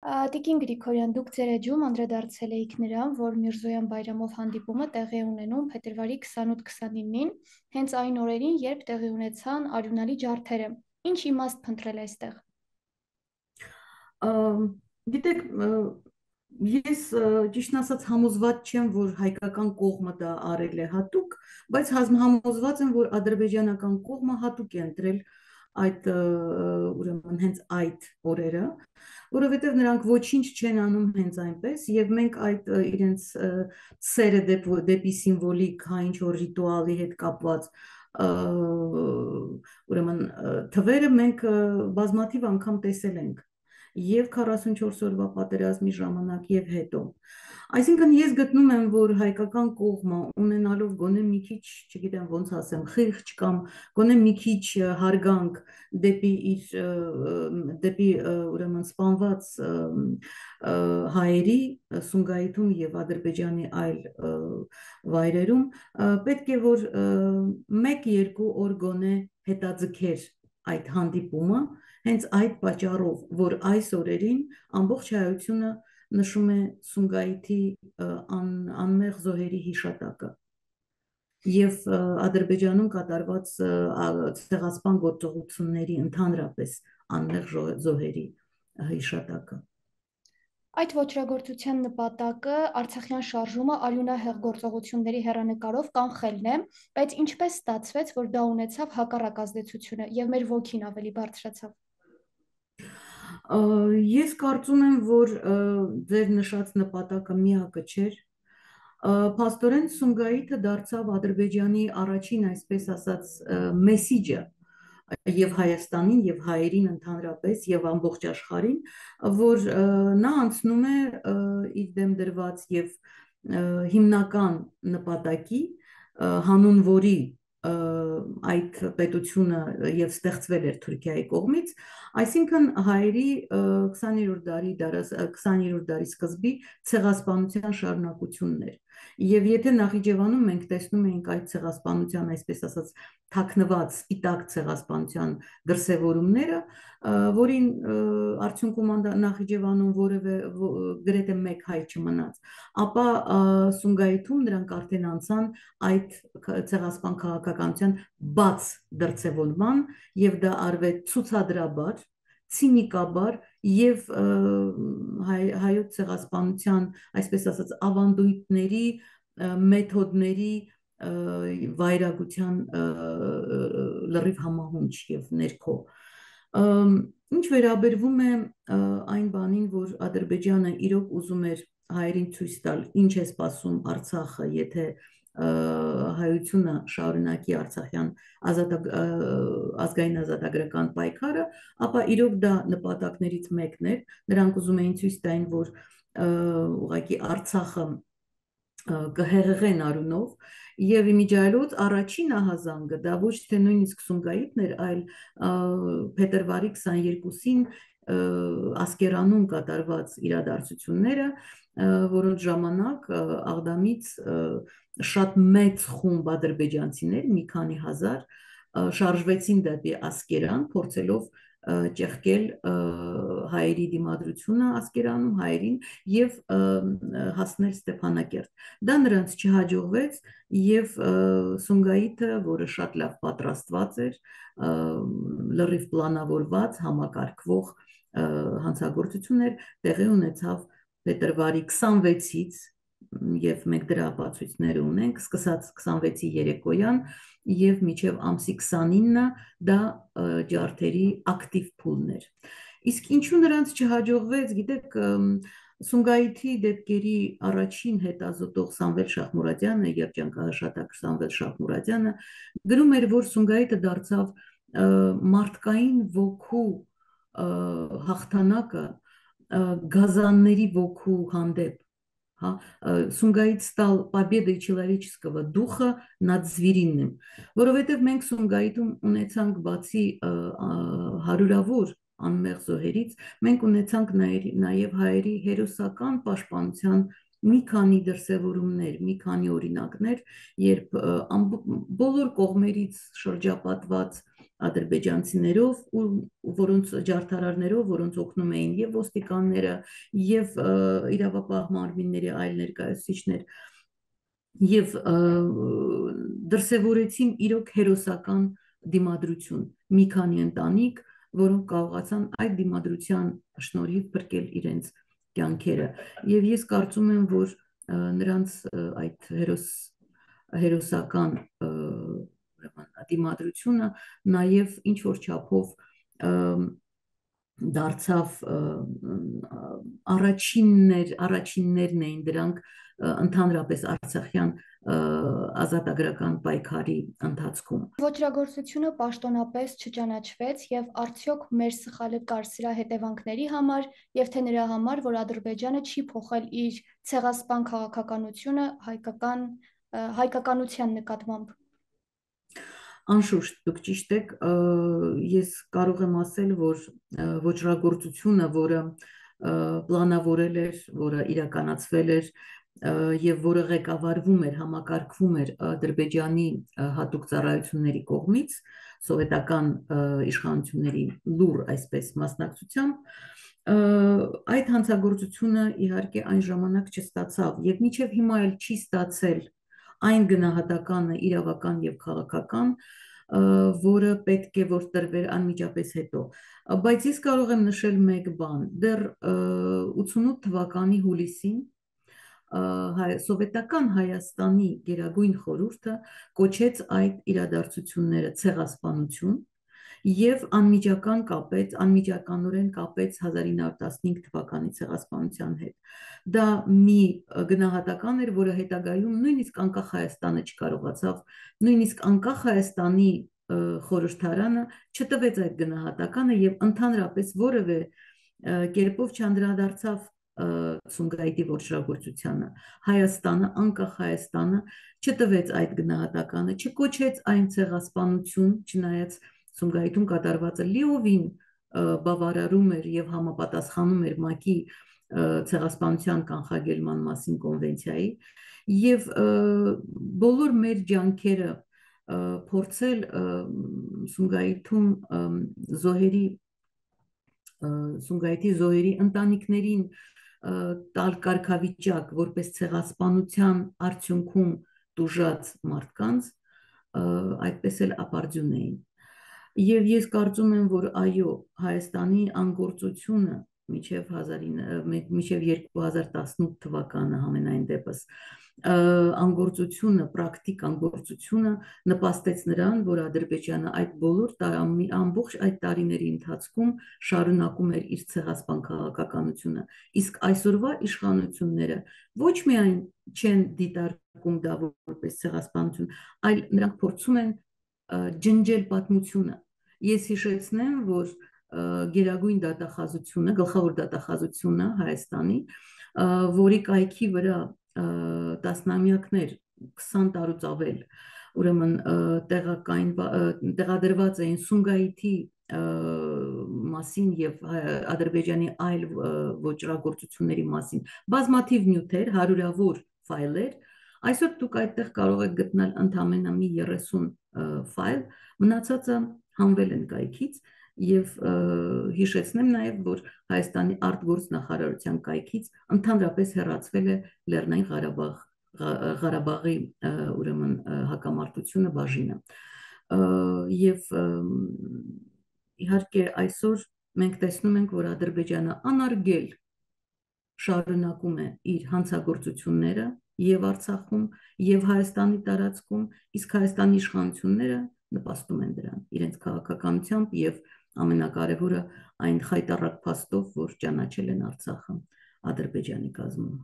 Տիկին Գրիգորյան, դուք ձեր էջում անդրադարձել էիք նրան, որ Միրզոյան Բայրամով հանդիպումը տեղի է ունենում փետրվարի 28-29-ին, հենց այն օրերին, երբ տեղի ունեցան արյունալի ջարդերը։ Ինչ իմաստ փնտրել այստեղ։ Գիտեք, ես ճիշտն ասած համոզված չեմ, որ հայկական կողմը դա արել է հատուկ, բայց համոզված եմ, որ ադրբեջանական կողմը հատուկ է ընտրել այդ ուրեմն հենց այդ օրերը, որովհետև նրանք ոչինչ չեն անում հենց այնպես, եւ մենք այդ իրենց սերը դեպի սիմվոլիկ հա ինչ որ ռիտուալի հետ կապված ուրեմն թվերը մենք բազմաթիվ անգամ տեսել ենք եւ 44 օրվա պատերազմի ժամանակ եւ հետո։ Այսինքն ես գտնում եմ, որ հայկական կողմը ունենալով գոնե մի քիչ, չգիտեմ ոնց ասեմ, խիղճ կամ գոնե մի քիչ հարգանք դեպի ուրեմն սպանված հայերի Սումգայիթում եւ Ադրբեջանի այլ վայրերում պետք է որ 1-2 օր գոնե հետաձգեր այդ հանդիպումը հենց այդ պատճառով, որ այս օրերին ամբողջ հայությունը նշում է Սումգայիթի անմեղ զոհերի հիշատակը եւ Ադրբեջանում կատարված ցեղասպան գործողությունների ընդհանրապես անմեղ զոհերի հիշատակը։ Այդ ոճրագործության նպատակը Արցախյան շարժումը արյունահեղ գործողությունների հեռանկարով կանխելն է, բայց ինչպես ստացվեց, որ դա ունեցավ հակառակ ազդեցությունը եւ մեր ոգին ավելի բարձրացավ։ Ես կարծում եմ, որ ձեր նշած նպատակը միակը չէր։ Փաստորեն Սումգայիթը դարձավ Ադրբեջանի առաջին, այսպես ասած, մեսիջը եւ Հայաստանին եւ հայերին ընդհանրապես եւ ամբողջ աշխարհին, որ նա անցնում է իր դեմ դրված եւ հիմնական նպատակի, հանուն որի այդ պետությունը եւ ստեղծվել էր Թուրքիայի կողմից, այսինքն հայերի 20-րդ դարի սկզբի ցեղասպանության շարունակությունն էր։ Եվ եթե Նախիջևանում մենք տեսնում էինք այդ ցեղասպանության, այսպես ասած, թաքնված սպիտակ ցեղասպանության դրսևորումները, որին արդյունքում Նախիջևանում որևէ գրեթե մեկ հայ չմնաց, ապա Սումգայիթում նրանք արդեն անցան այդ ցեղասպան քաղաքականության բաց դրսևորման եւ դա արվեց ցուցադրաբար, ցինիկաբար եւ հայոց ցեղասպանության, այսպես ասած, ավանդույթների, մեթոդների վայրագության լրիվ համահունչ եւ ներքո։ Ինչ վերաբերվում է այն բանին, որ Ադրբեջանը իրոք ուզում էր հայերին ցույց տալ, ինչ է սպասում Արցախը, եթե հայությունը շարունակի Արցախյան ազգային ազատագրական պայքարը, ապա իրոք դա նպատակներից մեկն էր։ Նրանք ուզում էին ցույց տային, որ ուղղակի Արցախը կհեղեղեն արունով եւ իմիջիայլոց առաջին ահազանգը դա ոչ թե նույնիսկ Սումգայիթն էր, այլ փետրվարի 22-ին Ասկերանում կատարված իրադարձությունները, որոնց ժամանակ Աղդամից շատ մեծ խումբ ադրբեջանցիներ, մի քանի հազար, շարժվեցին դեպի Ասկերան, փորձելով ճեղքել հայերի դիմադրությունը Ասկերանում, հայերին եւ հասնել Ստեփանակերտ։ Դա նրանց չհաջողվեց եւ Սումգայիթը, որը շատ լավ պատրաստված էր, լրիվ պլանավորված, համակարգվող հանցագործություն էր, տեղի ունեցավ փետրվարի 26-ից եւ մենք դրա ապացույցները ունենք, սկսած 26-ի երեկոյան եւ մինչեւ ամսի 29-ը դա ջարդերի ակտիվ փուլն էր։ Իսկ ինչու նրանց չհաջողվեց, գիտեք, Սումգայիթի դեպքերի առաջին հետազոտող Սամվել Շահմուրադյանը, երջանկահաշատակ Սամվել Շահմուրադյանը գրում էր, որ Սումգայիթը դարձավ մարդկային ոգու հաղթանակը գազանների ոգու հանդեպ։ Сумгаит стал победой человеческого духа над звериным, որովհետև մենք Սումգայիթում ունեցանք բացի հարյուրավոր անմեղ զոհերից, մենք ունեցանք նաև հայերի հերոսական պաշտպանության մի քանի դրսևորումներ, մի քանի օրինակներ, երբ բոլոր կողմերից շրջապատված ադրբեջանցիներով, որոնց ջարդարարներով, որոնց օգնում էին եւ ոստիկանները, եւ իրավապահ մարմինների այլ ներկայացուցիչներ, եւ դրսևորեցին իրոք հերոսական դիմադրություն, մի քանի ընտանիք, որոնք կարողացան այդ դիմադրության շնորհիվ փրկել իրենց կյանքերը, եւ ես կարծում եմ, որ նրանց այդ հերոսական դիմադրությունը նաև ինչ որ չափով դարձավ առաջիններն էին դրանք ընդհանրապես արցախյան ազատագրական պայքարի ընթացքում։ Ոճրագործությունը պաշտոնապես չճանաչվեց եւ արդյոք մեր սխալը կար սրա հետևանքների համար եւ թե նրա համար, որ Ադրբեջանը չի փոխել իր ցեղասպան քաղաքականությունը հայկականության նկատմամբ։ Անշուշտ, դուք ճիշտ եք, ես կարող եմ ասել, որ ոճրագործությունը, որը պլանավորել էր, որը իրականացվել էր եւ որը ղեկավարվում էր, համակարգվում էր Ադրբեջանի հատուկ ծառայությունների կողմից, սովետական իշխանությունների լուր այսպես մասնակցությամբ, այդ հանցագործությունը իհարկե այն ժամանակ չստացավ եւ մինչեւ հիմա էլ չի ստացել այն գնահատականը իրավական եւ քաղաքական, որը պետք է որ տրվեր անմիջապես հետո, բայց ես կարող եմ նշել մեկ բան, դեռ 88 թվականի հուլիսին սովետական Հայաստանի Գերագույն խորհուրդը կոչեց այդ իրադարձությունները ցեղասպանություն եւ անմիջականորեն կապեց 1915 թվականի ցեղասպանության հետ։ Դա մի գնահատական էր, որը հետագայում նույնիսկ անկախ Հայաստանը չկարողացավ, նույնիսկ անկախ Հայաստանի խորհրդարանը չտվեց այդ գնահատականը եւ ընդհանրապես որևէ կերպով չանդրադարձավ Սումգայիթի ոճրագործությանը։ Հայաստանը, անկախ Հայաստանը չտվեց այդ գնահատականը, չկոչեց այն ցեղասպանություն, չնայած Սումգայիթում կատարվածը լիովին բավարարում էր եւ համապատասխանում էր ՄԱԿ-ի ցեղասպանության կանխարգելման մասին կոնվենցիայի եւ բոլոր մեր ջանքերը փորձել Սումգայիթի զոհերի ընտանիքներին տալ կարգավիճակ որպես ցեղասպանության արդյունքում տուժած մարդկանց այդպես էլ ապարդյուն էին։ Եվ ես կարծում եմ, որ այո, Հայաստանի անգործությունը մինչև 2018 թվականը համենայն դեպս անգործությունը, պրակտիկ անգործությունը նպաստեց նրան, որ Ադրբեջանը այդ բոլոր ամբողջ այդ տարիների ընթացքում շարունակում էր իր ցեղասպան քաղաքականությունը, իսկ այսօրվա իշխանությունները ոչ միայն չեն դիտարկում դա որպես ցեղասպանություն, այլ նրանք փորձում են ջնջել պատմությունը։ Ես հիշեցնեմ, որ Գերագույն դատախազությունը, գլխավոր դատախազությունը Հայաստանի, որի կայքի վրա տասնամյակներ, 20 տարուց ավել, ուրեմն տեղադրված էին Սումգայիթի մասին եւ Ադրբեջանի այլ ոճրագործությունների մասին բազմաթիվ նյութեր, հարյուրավոր ֆայլեր, այսօր դուք այդտեղ կարող եք գտնել ընդամենը մի 30 ֆայլ, մնացածը հանվել են կայքից եւ հիշեցնեմ նաեւ, որ Հայաստանի արտգործնախարարության կայքից ընդհանրապես հեռացվել է Լեռնային Ղարաբաղի ուրեմն հակամարտությունը բաժինը։ Եվ իհարկե այսօր մենք տեսնում ենք, որ Ադրբեջանը անարգել շարունակում է իր հանցագործությունները եւ Արցախում եւ Հայաստանի տարածքում, իսկ Հայաստանի իշխանությունները նպաստում են դրան իրենց քաղաքականությամբ եւ ամենակարևորը այն խայտառակ փաստով, որ ճանաչել են Արցախը Ադրբեջանի կազմում։